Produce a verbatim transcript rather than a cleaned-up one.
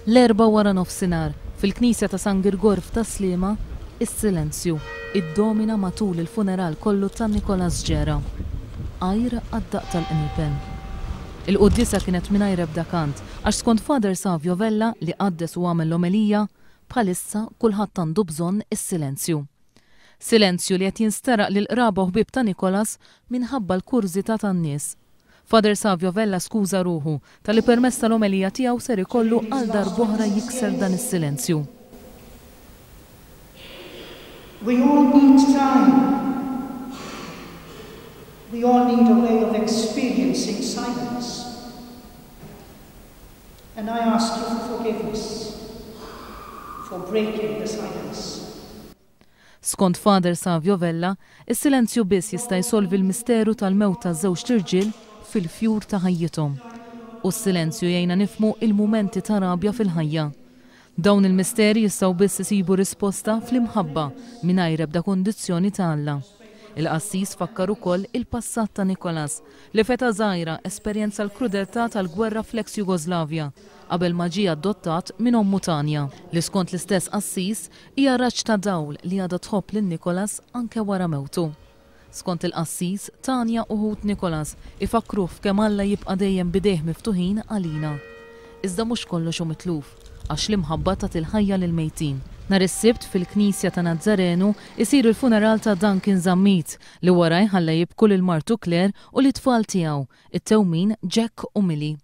L-Erbgħa wara nofsinhar, fil-Knisja ta' San Girgor f'Tas-Sliema, is-silenzju iddomina matul il-funeral kollu ta' Nicholas Gera. Għajr għad-daqq tal-qniepen. Il-quddiesa kienet mingħajr ebda kant, għax skont Father Savio Vella, li qaddes u għamel l-omelija, bħalissa kulħadd għandu bżonn is-silenzju. Silenzju li qed jinsteraq lil qraba u ħbieb ta' Nicholas minħabba l-kurżità tan-nies. Father Savio Vella skuża ruħu talli permezz tal-omelija tiegħu ser ikollu għal darb'oħra jikser dan is-silenzju. We all need time. We all need a way of experiencing silence. And I ask you for forgiveness for breaking the silence. Skont Father Savio Vella, is-silenzju biss jista' jsolvi l-misteru tal-mewt ta' żewġt irġiel fil-fjur ta' ħajjithom. U s-silenzju jgħinna nifhmu il-mumenti ta' rabja fil-ħajja. Dawn il-misteri jistgħu biss isibu risposta fl-imħabba mingħajr ebda kondizzjoni ta' Alla. Il-qassis fakkar ukoll il-passat ta' Nicholas, li f'età żgħira esperjenza l-krudeltà tal-gwerra fl-ex Jugoslavja qabel ma ġie adottat minn ommu Tanja, li skont l-istess qassis hija raġġ ta' dawl li għadha tħobb lil Nicholas anke wara mewtu. Skont il-qassis, Tanja u ħut Nicholas ifakkruh f'kemm Alla jibqa' dejjem b'idejh miftuħin għalina. Iżda mhux kollox hu mitluf, għax l-imħabba tagħti l-ħajja lil mejtin. Nhar is-Sibt fil-Knisja ta' Nazzarenu isir il-funeral ta' Duncan Zammit, li wara jħalla jibku lil martu Claire u l-tfal tiegħu, it-tewmin Jack u Millie.